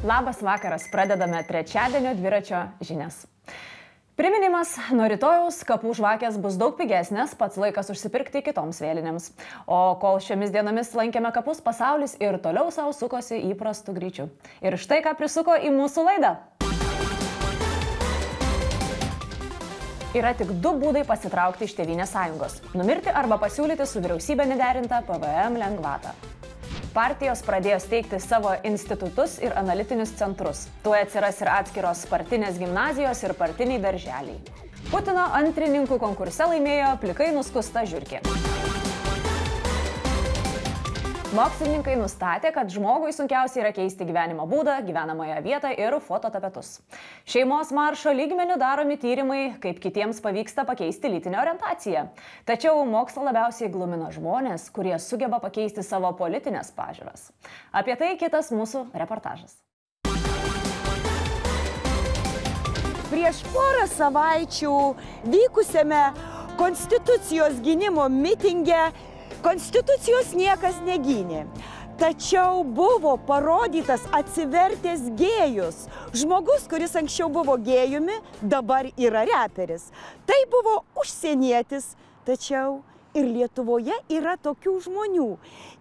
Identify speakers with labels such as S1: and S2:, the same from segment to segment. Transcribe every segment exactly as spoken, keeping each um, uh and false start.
S1: Labas vakaras, pradedame trečiadienio dviračio žinias. Priminimas, nuo rytojaus kapų žvakės bus daug pigesnės, pats laikas užsipirkti kitoms vėlinėms. O kol šiomis dienomis lankėme kapus, pasaulis ir toliau savo sukosi įprastų greičių. Ir štai ką prisuko į mūsų laidą. Yra tik du būdai pasitraukti iš Tėvynės sąjungos – numirti arba pasiūlyti su vyriausybė nederintą P V M lengvatą. Partijos pradėjo steigti savo institutus ir analitinius centrus. Tuoj atsiras ir atskiros partinės gimnazijos ir partiniai darželiai. Putino antrininkų konkurse laimėjo plikai nuskusta žiurkė. Mokslininkai nustatė, kad žmogui sunkiausia yra keisti gyvenimo būdą, gyvenamąją vietą ir fototapetus. Šeimos maršo lygmeniu daromi tyrimai, kaip kitiems pavyksta pakeisti lytinę orientaciją. Tačiau mokslo labiausiai glumina žmonės, kurie sugeba pakeisti savo politinės pažiūras. Apie tai kitas mūsų reportažas.
S2: Prieš porą savaičių vykusiame Konstitucijos gynimo mitinge Konstitucijos niekas negynė, tačiau buvo parodytas atsivertęs gėjus. Žmogus, kuris anksčiau buvo gėjumi, dabar yra reperis. Tai buvo užsienietis, tačiau ir Lietuvoje yra tokių žmonių.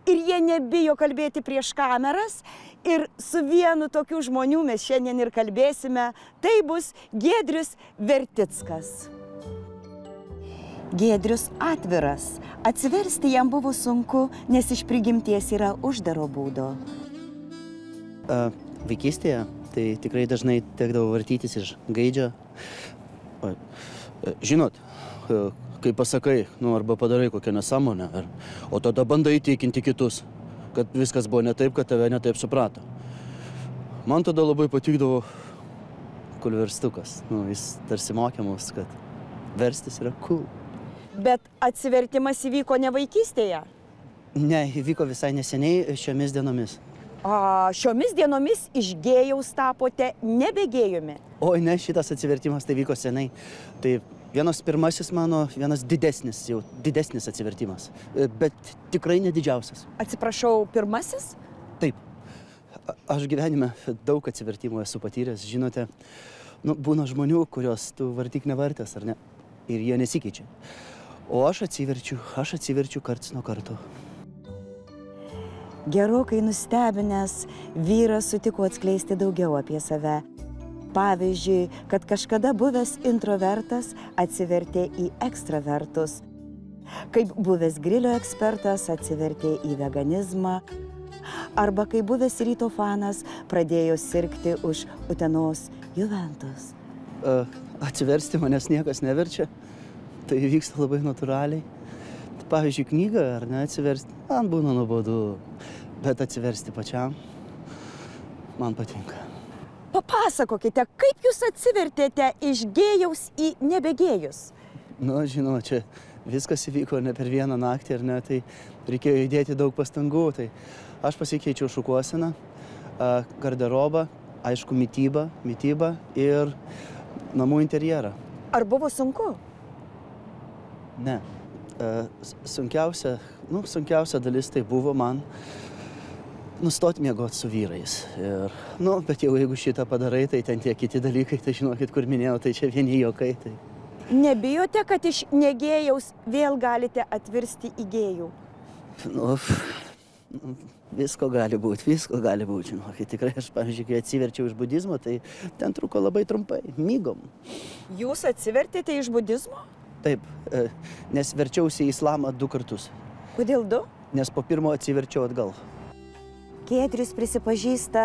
S2: Ir jie nebijo kalbėti prieš kameras. Ir su vienu tokių žmonių mes šiandien ir kalbėsime. Tai bus Giedrius Vertickas. Giedrius atviras. Atsiversti jam buvo sunku, nes iš prigimties yra uždaro būdo.
S3: A, vaikystėje tai tikrai dažnai tekdavo vartytis iš gaidžio. A, žinot, kai pasakai, nu, arba padarai kokią nesąmonę, ar, o tada bandai įtikinti kitus, kad viskas buvo ne taip, kad tave ne taip suprato. Man tada labai patikdavo kulverstukas. Nu, jis tarsi mokė mus, kad verstis yra cool.
S2: Bet atsivertimas įvyko ne vaikystėje?
S3: Ne, įvyko visai neseniai šiomis dienomis.
S2: A, šiomis dienomis iš gėjaus tapote nebegėjumi?
S3: Oi, ne, šitas atsivertimas tai vyko senai. Tai vienas pirmasis mano, vienas didesnis, jau didesnis atsivertimas. Bet tikrai ne didžiausias.
S2: Atsiprašau, pirmasis?
S3: Taip. Aš gyvenime daug atsivertimų esu patyręs, žinote. Nu, būna žmonių, kurios tu vartyk nevartės, ar ne? Ir jie nesikeičia. O aš atsiverčiu, aš atsiverčiu karts nuo karto.
S2: Gerokai nustebinęs, vyras sutiko atskleisti daugiau apie save. Pavyzdžiui, kad kažkada buvęs introvertas atsivertė į ekstravertus. Kaip buvęs grilio ekspertas atsivertė į veganizmą. Arba kaip buvęs ryto fanas pradėjo sirgti už Utenos Juventus.
S3: Uh, atsiversti manęs niekas neverčia. Tai vyksta labai natūraliai. Pavyzdžiui, knygą ar ne atsiversti, man būna nuobodu, bet atsiversti pačiam man patinka.
S2: Papasakokite, kaip jūs atsivertėte iš gėjaus į nebegėjus?
S3: Nu, žinau, čia viskas įvyko ne per vieną naktį, ar ne, tai reikėjo įdėti daug pastangų. Tai aš pasikeičiau šukuoseną, garderobą, aišku, mitybą, mitybą ir namų interjerą.
S2: Ar buvo sunku?
S3: Ne. Sunkiausia, nu, sunkiausia dalis tai buvo man nustoti miegoti su vyrais. Ir, nu, bet jau jeigu šitą padarai, tai ten tie kiti dalykai, tai žinokit, kur minėjau, tai čia vieni juokai. Tai...
S2: Nebijote, kad iš negėjaus vėl galite atvirsti į gėjų?
S3: Nu, visko gali būti, visko gali būti, žinokit. Tikrai aš, pavyzdžiui, kai atsiverčiau iš budizmo, tai ten truko labai trumpai, mygom.
S2: Jūs atsivertėte iš budizmo?
S3: Taip, nes verčiausi į islamą du kartus.
S2: Kodėl du?
S3: Nes po pirmo atsiverčiau atgal.
S2: Giedrius prisipažįsta,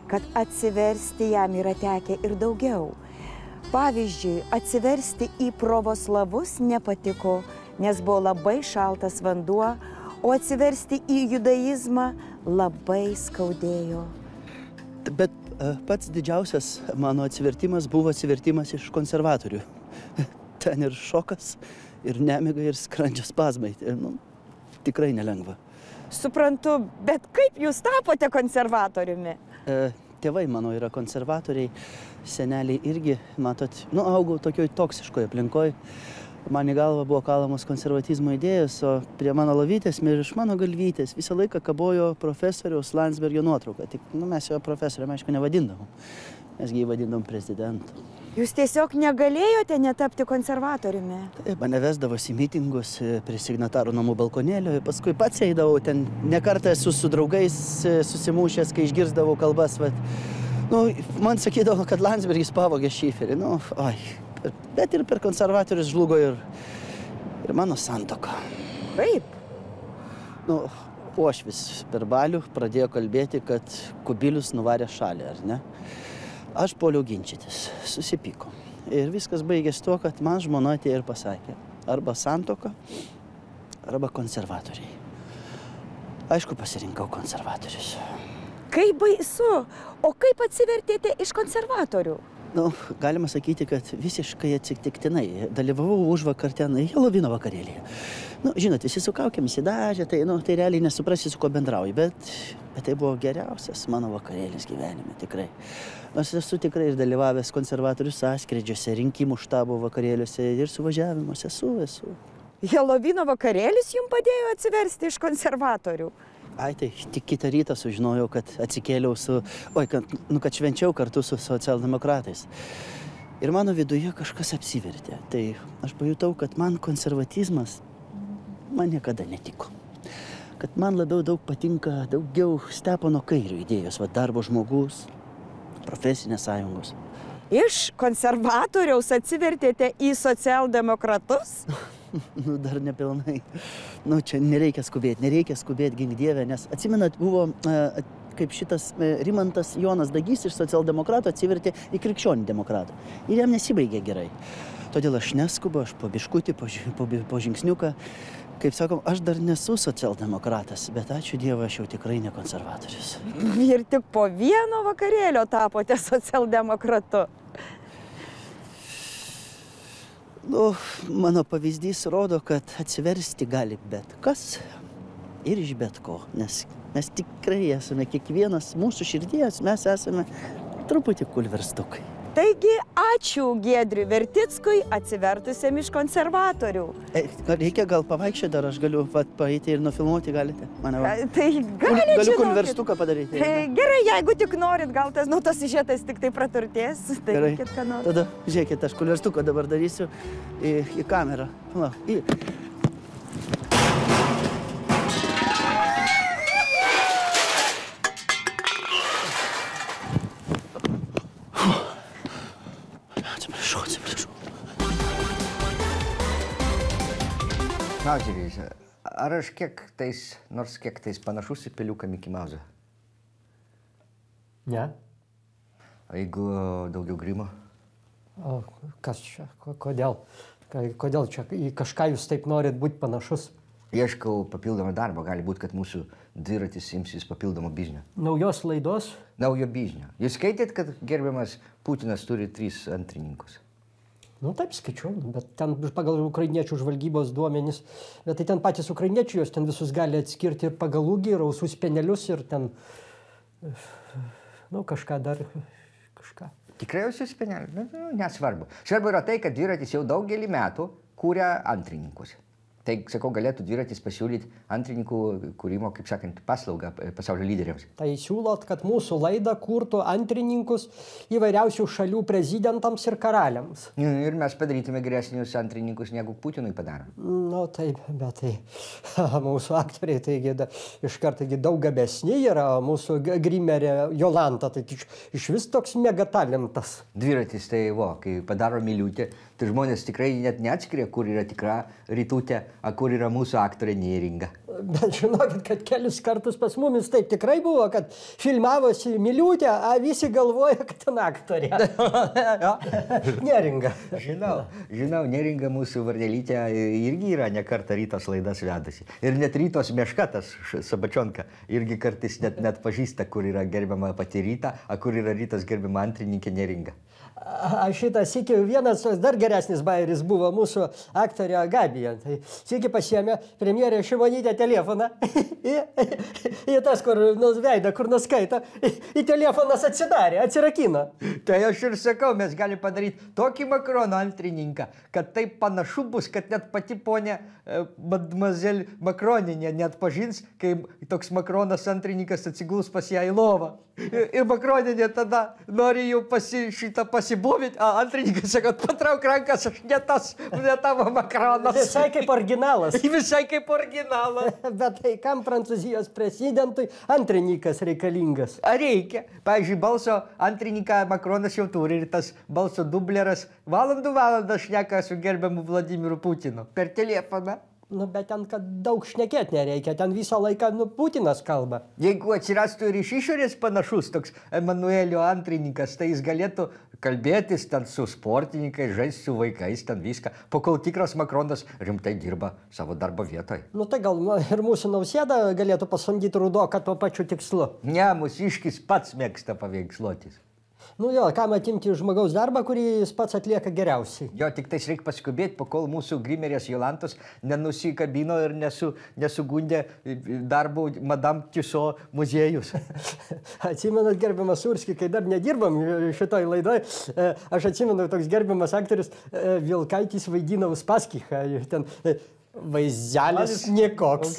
S2: kad atsiversti jam yra tekę ir daugiau. Pavyzdžiui, atsiversti į pravoslavus nepatiko, nes buvo labai šaltas vanduo, o atsiversti į judaizmą labai skaudėjo.
S3: Bet pats didžiausias mano atsivertimas buvo atsivertimas iš konservatorių. Ten ir šokas, ir nemiga, ir skrandžio spazmai. Nu, tikrai nelengva.
S2: Suprantu, bet kaip jūs tapote konservatoriumi?
S3: E, tėvai mano yra konservatoriai, seneliai irgi, matot, nu, augau tokioj toksiškoj aplinkoj. Man į galvą buvo kalamos konservatizmo idėjos, o prie mano lovytės ir iš mano galvytės visą laiką kabojo profesoriaus Landsbergio nuotrauka. Tik nu, mes jo profesoriam, aišku, nevadindavom. Mes jį vadindom prezidentu.
S2: Jūs tiesiog negalėjote netapti konservatoriumi?
S3: Taip, mane vesdavosi į mitingus prie signatarų namų balkonėlio ir paskui pats eidavau. Ten nekartą esu su draugais susimušęs, kai išgirsdavau kalbas. Vat, nu, man sakydavo, kad Landsbergis pavogė šiferį. Nu, oi. Bet ir per konservatorius žlugo ir, ir mano santuoka.
S2: Kaip?
S3: Nu, Uošvis per balių pradėjo kalbėti, kad Kubilius nuvarė šalį, ar ne? Aš puoliau ginčytis, susipyko. Ir viskas baigėsi tuo, kad man žmona atėjo ir pasakė, arba santuoka, arba konservatoriai. Aišku, pasirinkau konservatorius.
S2: Kaip baisu! O kaip atsivertėte iš konservatorių?
S3: Nu, galima sakyti, kad visiškai atsitiktinai. Dalyvavau užvakar ten Helovino vakarėlėje. Nu, žinot, visi su kaukėmis įdažė, tai, nu, tai realiai nesuprasi, su kuo bendrauji, bet, bet tai buvo geriausias mano vakarėlis gyvenime, tikrai. Aš esu tikrai ir dalyvavęs konservatorių sąskrydžiuose, rinkimų štabo vakarėliuose ir suvažiavimuose esu, esu.
S2: Helovino vakarėlis jums padėjo atsiversti iš konservatorių?
S3: Ai, tai tik kitą rytą sužinojau, kad atsikėliau su, oi, kad, nu, kad švenčiau kartu su socialdemokratais. Ir mano viduje kažkas apsivertė. Tai aš pajutau, kad man konservatizmas man niekada netiko. Kad man labiau daug patinka, daugiau Stepono Kairio idėjos, va, darbo žmogus, profesinės sąjungos.
S2: Iš konservatoriaus atsivertėte į socialdemokratus?
S3: Nu, dar nepilnai. Nu, čia nereikia skubėti, nereikia skubėti, gink Dieve, nes atsimenat, buvo e, kaip šitas e, Rimantas Jonas Dagys iš socialdemokratų atsivertė į krikščionį demokratą. Ir jam nesibaigė gerai. Todėl aš neskubu, aš po biškutį, po, po, po žingsniuką. Kaip sakom, aš dar nesu socialdemokratas, bet ačiū Dievui, aš jau tikrai ne konservatorius.
S2: Ir tik po vieno vakarėlio tapote socialdemokratu.
S3: Nu, mano pavyzdys rodo, kad atsiversti gali bet kas ir iš bet ko, nes mes tikrai esame kiekvienas mūsų širdies, mes esame truputį kulverstukai.
S2: Taigi, ačiū Giedriui Vertickui atsivertusiam iš konservatorių.
S3: E, reikia gal pavaikščioti, ar aš galiu vat, paeiti ir nufilmuoti, galite? Mane, va.
S2: Tai gali,
S3: Galiu
S2: žinokit.
S3: kulverstuką padaryti.
S2: Tai gerai, jeigu tik norit, gal tas, nu, tas siužetas tik tai praturtės. Tai
S3: Gerai,
S2: reikėt, ką nors.
S3: tada žiūrėkit, aš kulverstuką dabar darysiu į, į kamerą. La, į. Atsiprašau, atsiprašau.
S4: Mauzeriais, ar aš kiek tais, nors kiek tais panašus į peliuką Mickey Mouse'ą?
S5: Ne.
S4: O jeigu daugiau grimo?
S5: O kas čia? Ko- Kodėl? Ka- Kodėl čia į kažką jūs taip norit būti panašus?
S4: Ieškau papildomą darbą, gali būti, kad mūsų dviratis imsis papildomo biznio.
S5: Naujos laidos?
S4: Naujo biznio. Jūs skaitėt, kad gerbiamas Putinas turi tris antrininkus?
S5: Nu taip skaičiau, bet ten pagal ukrainiečių žvalgybos duomenys, bet tai ten patys ukrainiečiai jos ten visus gali atskirti ir pagal ūgį, ir ausų spenelius, ir ten, nu kažką dar, kažką.
S4: Tikrai jūs spenelį? Nu, nu, nesvarbu. Svarbu yra tai, kad dviratis jau daugelį metų kūrė antrininkus. Tai, sakau, galėtų dviratis pasiūlyti antrininkų kūrimo, kaip sakant, paslaugą pasaulio lyderiams.
S5: Tai siūlot, kad mūsų laida kurtų antrininkus įvairiausių šalių prezidentams ir karaliams.
S4: Ir mes padarytume geresnius antrininkus, negu Putinui padaro.
S5: Nu taip, bet tai mūsų aktoriai taigi da, iš karto daug gabesni yra, mūsų g- grimerė Jolanta, tai iš, iš vis toks megatalentas.
S4: Dviratis tai, vo, kai padaro miliutė, tai žmonės tikrai net neatskiria, kur yra tikra rytutė, a kur yra mūsų aktorė Neringa.
S5: Bet žinokit, kad kelis kartus pas mumis taip tikrai buvo, kad filmavosi miliutė, a visi galvoja, kad ten aktorė. Neringa.
S4: Žinau, žinau, Neringa mūsų varnelytė irgi yra ne kartą Rytos laidas vedusi. Ir net Rytos Meškatas, Sabačionka, irgi kartais net, net pažįsta, kur yra gerbiama pati Ryta, a kur yra Rytos gerbiama antrininkė Neringa.
S5: Aš šitą sykį vienas dar geresnis bajeris buvo mūsų aktorė Gabija. Tai sykį pasiėmė premjerė Šimonytė telefoną į, į tas, kur nus veidą, kur nuskaito, į telefonas atsidarė, atsirakino.
S4: Tai aš ir sakau, mes galime padaryti tokį Makrono antrininką, kad taip panašu bus, kad net pati ponė mademoiselle Makroninė net pažins, kai toks Makronas antrininkas atsiguls pas ją į lovą. Ir Makroninė tada nori jau pasi, šitą pasibūvyti, a antrininkas sako, patrauk rankas, aš ne tas, ne tavo Makronas.
S5: Visai kaip originalas.
S4: Visai kaip originalas.
S5: Bet tai kam Prancūzijos prezidentui antrininkas reikalingas?
S4: Ar reikia? Pavyzdžiui, balso antrininką Makronas jau turi ir tas balso dubleras valandų valandą šneka su gerbiamu Vladimiru Putinu per telefoną.
S5: Nu, bet ten, kad daug šnekėti nereikia, ten visą laiką, nu, Putinas kalba.
S4: Jeigu atsirastų ir iš išorės panašus toks Emanuelio antrininkas, tai jis galėtų kalbėtis ten su sportininkais, žaisti su vaikais, ten viską, po kol tikras Makronas rimtai dirba savo darbo vietoje.
S5: Nu, tai gal ir mūsų Nausėda galėtų pasamdyti Rudoką tuo pačiu tikslu.
S4: Ne, mūsiškis pats mėgsta paveiksluotis.
S5: Nu jo, kam atimti žmogaus darbą, kurį jis pats atlieka geriausiai.
S4: Jo, tik tais reikia paskubėti, po kol mūsų grimerės Jolantos nenusikabino ir nesu, nesugundė darbo Madame Tussauds muziejus.
S5: Atsimenat, gerbiamas Surski, kai dar nedirbam šitoj laidoj, aš atsimenu, toks gerbiamas aktorius Vilkaitis vaidina Uspaskichą. Ten vaizdelis niekoks.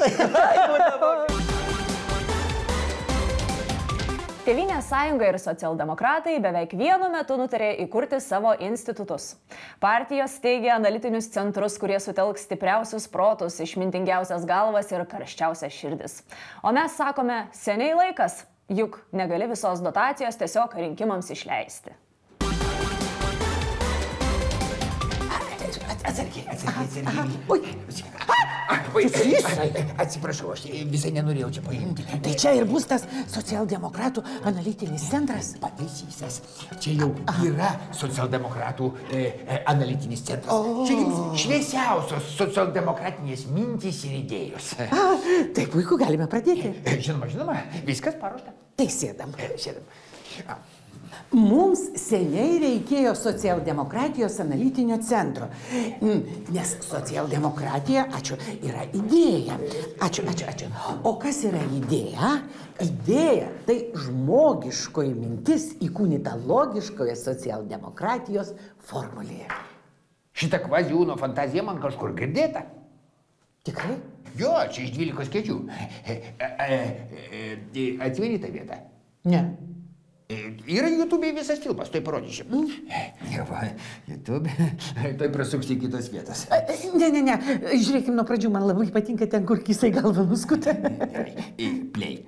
S1: Tėvynės sąjunga ir socialdemokratai beveik vienu metu nutarė įkurti savo institutus. Partijos steigia analitinius centrus, kurie sutelks stipriausius protus, išmintingiausias galvas ir karščiausias širdis. O mes sakome, seniai laikas, juk negali visos dotacijos tiesiog rinkimams išleisti.
S6: Atsargiai, atsargiai, atsargiai. Oi, atsiprašau, aš visai nenorėjau čia paimti. Tai čia ir bus tas socialdemokratų analitinis centras? Pataisysias. Čia jau yra socialdemokratų e, e, analitinis centras. O. Čia jums šviesiausios socialdemokratinės mintys ir idėjos.
S7: A, tai puiku, galime pradėti.
S6: Žinoma, žinoma, viskas paruošta.
S7: Tai sėdam.
S6: Sėdam. A.
S7: Mums seniai reikėjo socialdemokratijos analitinio centro, nes socialdemokratija, ačiū, yra idėja. Ačiū, ačiū, ačiū. O kas yra idėja? Idėja tai žmogiškoji mintis įkūnyta logiškoje socialdemokratijos formulėje.
S6: Šitą kvaziūno fantaziją man kažkur girdėta.
S7: Tikrai?
S6: Jo, čia iš dvylikos kėdžių. Atsimeni tą vietą?
S7: Ne.
S6: Yra YouTube'e visas filmas, tai parodysiu. Ne, va, YouTube, tai prasuks į kitas vietas.
S7: Ne, ne, ne, žiūrėkim nuo pradžių, man labai patinka ten, kur kisai galva nuskuta.
S6: Play.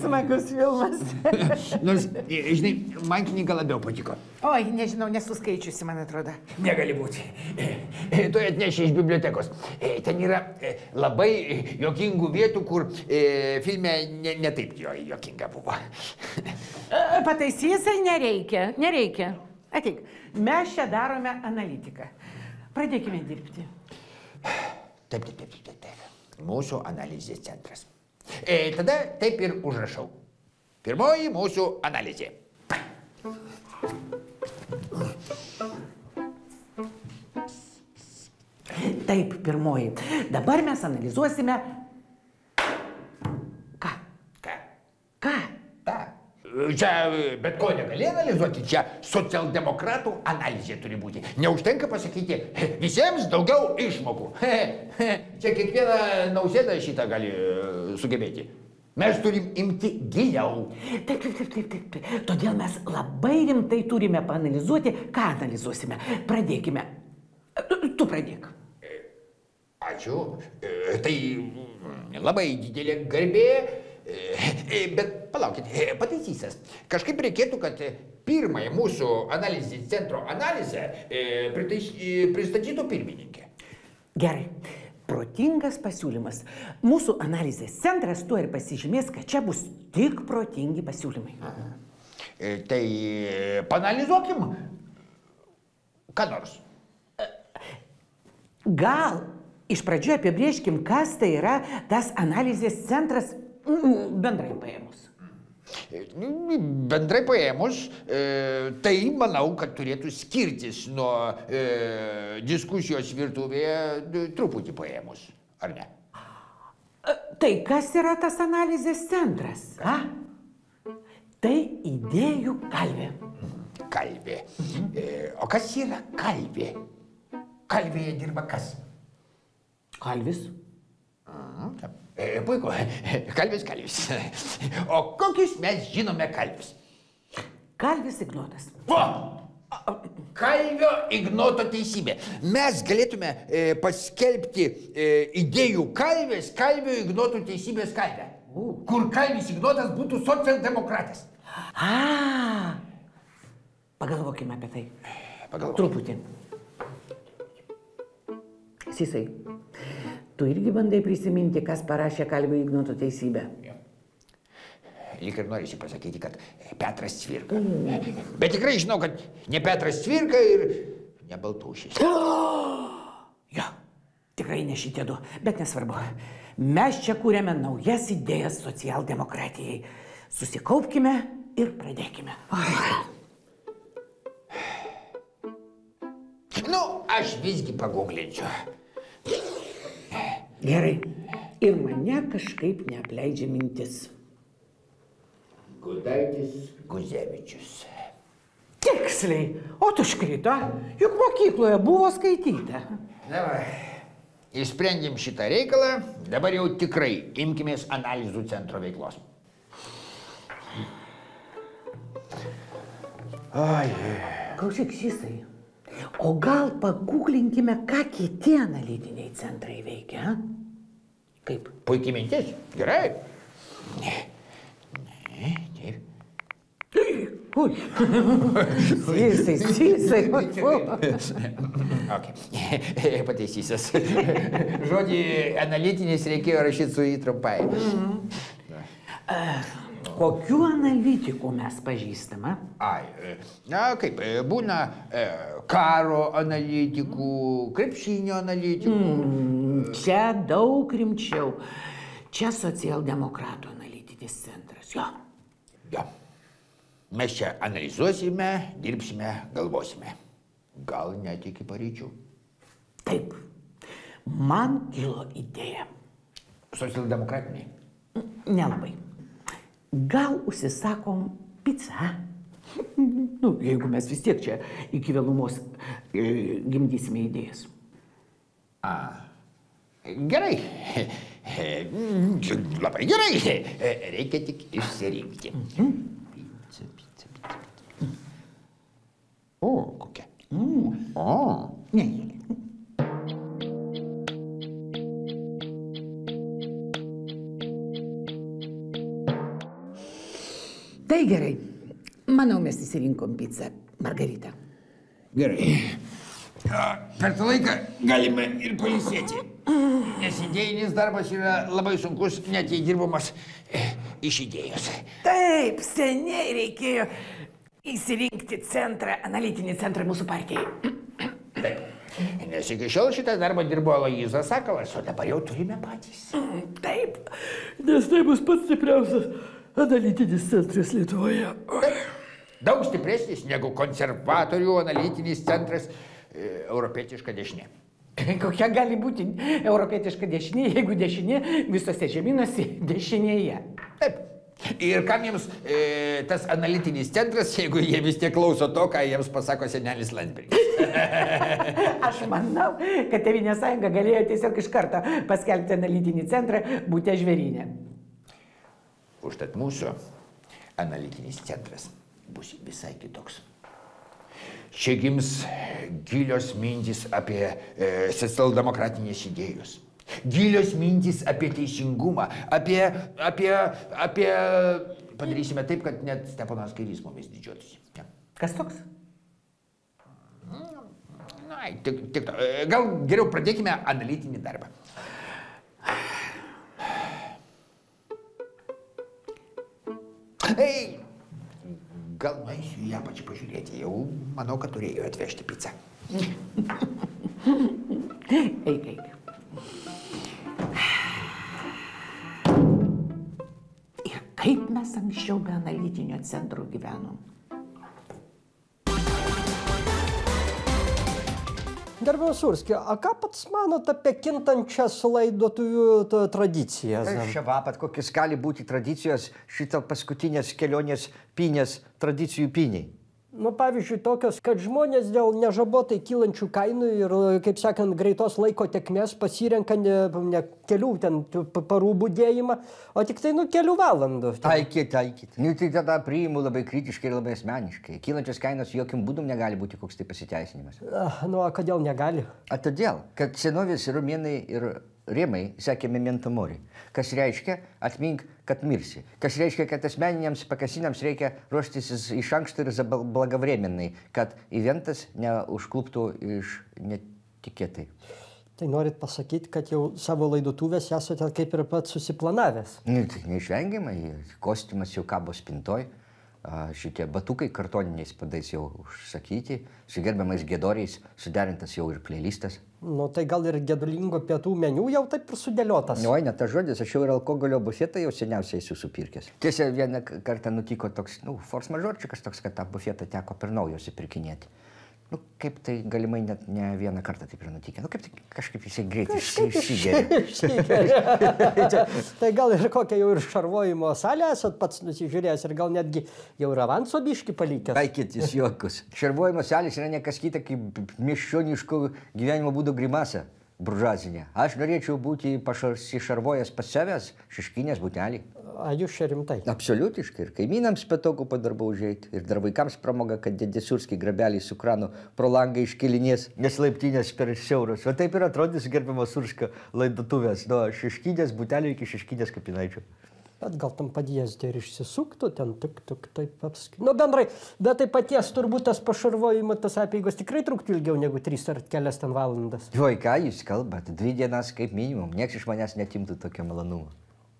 S7: Smagus filmas.
S6: Nors, žinai, man knyga labiau patiko.
S7: Oi, nežinau, nesu skaičiusi, man atrodo.
S6: Negali būti. Tu atneši iš bibliotekos. Ten yra labai jokingų vietų, kur filme ne, ne taip jo jokinga buvo.
S7: Pataisysai nereikia, nereikia. Ateik, mes čia darome analitiką. Pradėkime dirbti.
S6: Taip, taip, taip, taip, taip. Mūsų analizės centras. E, tada taip ir užrašau. Pirmoji mūsų analizė.
S7: Taip, pirmoji. Dabar mes analizuosime... Ką?
S6: Ką?
S7: Ką?
S6: Ta. Čia bet ko negali analizuoti, čia socialdemokratų analizė turi būti. Neužtenka pasakyti, visiems daugiau išmokų. Čia kiekviena Nausėda šitą gali sugebėti. Mes turim imti giliau.
S7: Taip, taip, taip, taip, taip. Todėl mes labai rimtai turime paanalizuoti, ką analizuosime. Pradėkime. Tu pradėk.
S6: Ačiū. Tai labai didelė garbė. Bet palaukit, pataisysias. Kažkaip reikėtų, kad pirmąją mūsų analizės centro analizę pristatytų pirmininkė.
S7: Gerai. Protingas pasiūlymas. Mūsų analizės centras tuo ir pasižymės, kad čia bus tik protingi pasiūlymai.
S6: Aha. Tai paanalizuokim ką nors.
S7: Gal iš pradžių apibrėžkim, kas tai yra tas analizės centras bendrai paėmus.
S6: Bendrai paėmus, tai manau, kad turėtų skirtis nuo diskusijos virtuvėje truputį paėmus, ar ne?
S7: Tai kas yra tas analizės centras? A? Tai idėjų kalvė.
S6: Kalvė. O kas yra kalvė? Kalvėje dirba kas?
S7: Kalvis.
S6: Puiku. Kalvis, kalvis. O kokius mes žinome kalvis?
S7: Kalvis Ignotas.
S6: O! Kalvio Ignoto teisybė. Mes galėtume e, paskelbti e, idėjų kalvės, Kalvio Ignoto teisybės kalvę. Uh. Kur Kalvis Ignotas būtų socialdemokratas.
S7: A, pagalvokime apie tai.
S6: Pagalvokime.
S7: Truputį. Sisai, tu irgi bandai prisiminti, kas parašė Kalvio Ignoto teisybę.
S6: Ja. Lyg ir norisi pasakyti, kad Petras Cvirka. Mm. Bet tikrai žinau, kad ne Petras Cvirka ir ne Baltūšis.
S7: Jo, tikrai ne šitie du, bet nesvarbu. Mes čia kūrėme naujas idėjas socialdemokratijai. Susikaupkime ir pradėkime.
S6: Nu, aš visgi paguglinčiau.
S7: Gerai. Ir mane kažkaip neapleidžia mintis.
S6: Gudaitis Guzevičius.
S7: Tiksliai. O tu škrito, juk mokykloje buvo skaityta.
S6: Davai. Išsprendėm šitą reikalą, dabar jau tikrai imkimės analizų centro veiklos.
S7: Ai. Klausyk, Sisai. O gal paguglinkime, ką kiti analitiniai centrai veikia? Kaip?
S6: Puikiai mintis. Gerai. Ne. Ne, taip.
S7: Ui. Sisai, Sisai.
S6: Ok. Pataisysias. Žodį analitinis reikėjo rašyti su įtrumpai.
S7: Kokių analitikų mes pažįstame?
S6: Ai, na kaip, būna e, karo analitikų, krepšinio analitikų.
S7: Mm, čia daug rimčiau. Čia socialdemokratų analitinis centras. Jo.
S6: Jo. Mes čia analizuosime, dirbsime, galvosime. Gal net iki paryčių.
S7: Taip. Man kilo idėja.
S6: Socialdemokratiniai?
S7: Nelabai. Gal užsisakom pizzą? Nu, jeigu mes vis tiek čia iki vėlumos e, gimdysime idėjas.
S6: A, gerai. Labai gerai. Reikia tik išsirinkti.
S7: Mhm.
S6: Pizza, pizza, pizza. O, kokia? Mm. O,
S7: ne. Tai gerai. Manau, mes įsirinkom pizzą Margaritą.
S6: Gerai. Per tą laiką galime ir pailsėti. Nes idėjinis darbas yra labai sunkus, net jei dirbamas iš idėjos.
S7: Taip, seniai reikėjo įsirinkti centrą, analitinį centrą mūsų partijai.
S6: Taip. Nes iki šiol šitą darbą dirbo Aloyzas Sakalas, o dabar jau turime patys.
S7: Taip, nes tai bus pats stipriausias analitinis centras Lietuvoje.
S6: Daug stipresnis negu konservatorių analitinis centras e, europietiška dešinė.
S7: Kokia gali būti europietiška dešinė, jeigu dešinė visose žemynuose dešinėje?
S6: Taip. Ir kam jiems e, tas analitinis centras, jeigu jie vis tiek klauso to, ką jiems pasako senelis Landsbergis?
S7: Aš manau, kad Tėvynės sąjunga galėjo tiesiog iš karto paskelbti analitinį centrą Bute žvėryne.
S6: Užtat mūsų analitinis centras bus visai kitoks. Čia gims gilios mintys apie e, socialdemokratinės idėjos. Gilios mintys apie teisingumą, apie, apie, apie... Padarysime taip, kad net Steponas Kairys mumis didžiuotųsi. Ja.
S7: Kas toks?
S6: Na, tik, tik to. Gal geriau pradėkime analitinį darbą. Ei, gal nueisiu į apačią pažiūrėti. Jau manau, kad turėjo atvežti pizzą.
S7: Eik, eik. Ir kaip mes anksčiau be analitinio centro gyvenom.
S5: Gerbiamas Surski, o ką pats manot apie kintančias laidotuvių tradicijas?
S4: Čia vapat, kokios gali būti tradicijos šito paskutinės kelionės pinės tradicijų piniai.
S5: Nu, pavyzdžiui, tokios, kad žmonės dėl nežabotai kylančių kainų ir, kaip sakant, greitos laiko tekmės pasirenka ne, ne kelių ten parų budėjimą, o tik tai, nu, kelių valandų.
S4: Taikyti, taikyti. Nu, tai tada priimu labai kritiškai ir labai asmeniškai. Kylančios kainos jokiam būdum negali būti koks tai pasiteisinimas.
S5: Nu, o kodėl negali?
S4: A todėl, kad senovės romėnai ir rėmai sakė memento mori, kas reiškia atmink, kad mirsi. Kas reiškia, kad asmeniniams pakasiniams reikia ruoštis iš anksto ir blagovrėminai, kad eventas neužkluptų iš netikėtai.
S5: Tai norit pasakyti, kad jau savo laidotuvės esate kaip ir pats susiplanavęs?
S4: Nu, tai neišvengiamai, kostiumas jau kabo spintoj, šitie batukai kartoniniais padais jau užsakyti, su gerbiamais giedoriais suderintas jau ir playlistas.
S5: Nu, tai gal ir gedulingo pietų meniu jau taip ir sudėliotas?
S4: Oi, ne tas žodis, aš jau ir alkoholio bufetą jau seniausiai esu supirkęs. Tiesa, vieną kartą nutiko toks, nu, force majeurčikas toks, kad tą bufetą teko per naujo supirkinėti. Nu, kaip tai galimai net ne vieną kartą taip ir nutikė. Nu, kaip tai kažkaip jisai greitai išsigeria.
S5: Tai gal ir kokią jau ir šarvojimo salę esat pats nusižiūrėjęs ir gal netgi jau ir avanso biškį palikęs?
S4: Taikėtis juokus. Šarvojimo salės yra nekas kita kaip miesčioniško gyvenimo būdo grimasa. Buržuazinė. Aš norėčiau būti pasišarvojęs pas savęs šeškinės butelį.
S5: A jūs čia rimtai?
S4: Absoliutiškai. Ir kaimynams patogu po darbo užeiti. Ir dar vaikams pramoga, kad dėdė Surskiai grabeliai su kranu pro langą iškelinės, nes laiptinės per siauros. O taip ir atrodys gerbiamo Surskio laidotuvės. Nuo šeškinės butelio iki šeškinės kapinaičio.
S5: Bet gal tam padėsdė ir išsisuktų, ten tik, tik, taip apskaitai. Nu, bendrai, bet tai paties turbūt tas pašarvojimo, tas apeigos tikrai truktų ilgiau negu tris ar kelias ten valandas.
S4: Oi, ką jūs kalbat? Dvi dienas kaip minimum. Niekas iš manęs netimtų tokio malonumo.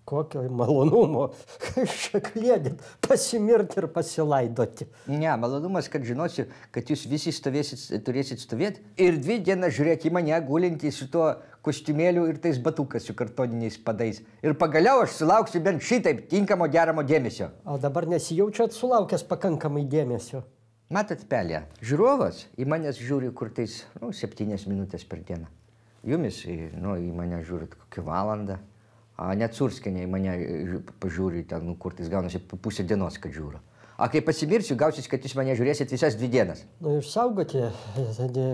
S5: Kokio malonumo? Šią klėdit, pasimirti ir pasilaidoti.
S4: Ne, malonumas, kad žinosiu, kad jūs visi stovėsit, turėsit stovėti ir dvi dienas žiūrėti į mane gulintį su tuo kostiumėliu ir tais batukas su kartoniniais padais. Ir pagaliau aš sulauksiu bent šitaip tinkamo geramo dėmesio.
S5: O dabar nesijaučiat sulaukęs pakankamai dėmesio?
S4: Matot, pelė, žiūrovas į manęs žiūri kur tais, nu, septynias minutės per dieną. Jumis, nu, į mane žiūrit kokią valandą. A, net Surskienė į mane pažiūri, ten, nu, kur tais gaunasi pusę dienos, kad žiūriu. A, kai pasimirsiu, gausis, kad jūs mane žiūrėsit visas dvi dienas.
S5: Nu, išsaugoti,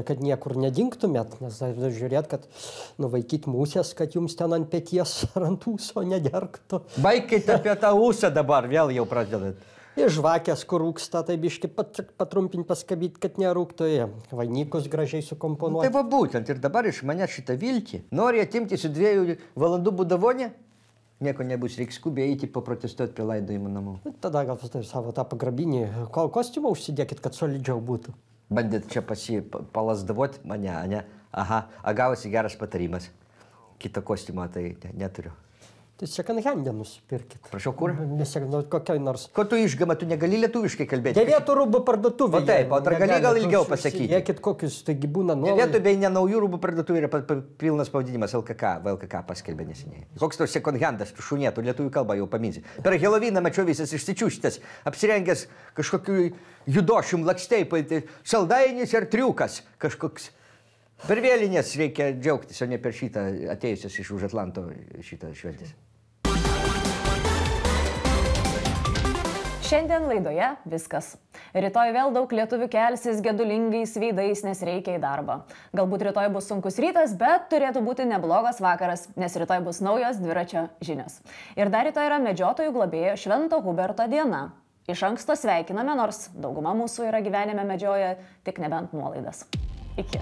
S5: kad niekur nedingtumėt, nes žiūrėt, kad nuvaikyt musės, kad jums ten ant peties ar ant ūso nederktų.
S4: Baikit apie tą ūsą dabar, vėl jau pradedat.
S5: Ir žvakės, kur rūksta, tai biški pat, patrumpinti, paskabyti, kad nerūktų, vainikus gražiai sukomponuoti.
S4: Tai va būtent, ir dabar iš mane šitą viltį. Nori atimti su dviejų valandų būdavonę? Nieko nebus, reiks skubiai eiti paprotestuoti prie laidojimo namų.
S5: Tada gal savo tą pagrabinį kostiumą užsidėkit, kad solidžiau būtų.
S4: Bandėt čia pasi palasdavoti mane, ne? Aha, a gavosi geras patarimas. Kito kostiumą tai neturiu.
S5: Tai second hand'e nusipirkit.
S4: Prašau, kur?
S5: Nesekinu, kokiai nors.
S4: Ko tu išgama, tu negali lietuviškai kalbėti?
S5: Dėvėtų rūbų parduotuvė.
S4: O taip, o dar gali gal ilgiau pasakyti.
S5: Dėkit kokius, taigi būna nuolaidų.
S4: Dėvėtų bei ne naujų rūbų parduotuvė yra pilnas pavadinimas L K K, V L K K paskelbė neseniai. Koks tau second hand'as, tu šunėtų, lietuvių kalbą jau paminsi. Per Helovyną mačiau visas išsičiūštas, apsirengęs kažkokiu judošium lakstei, saldainis ar triukas kažkoks. Per vėlinės reikia džiaugtis, o ne per šitą atėjusios iš už Atlanto šitą šventės.
S1: Šiandien laidoje viskas. Rytoj vėl daug lietuvių kelsis gedulingais veidais, nes reikia į darbą. Galbūt rytoj bus sunkus rytas, bet turėtų būti neblogas vakaras, nes rytoj bus naujos dviračio žinios. Ir dar rytoj yra medžiotojų globėjo Švento Huberto diena. Iš anksto sveikiname, nors dauguma mūsų yra gyvenime medžioja tik nebent nuolaidas. Iki.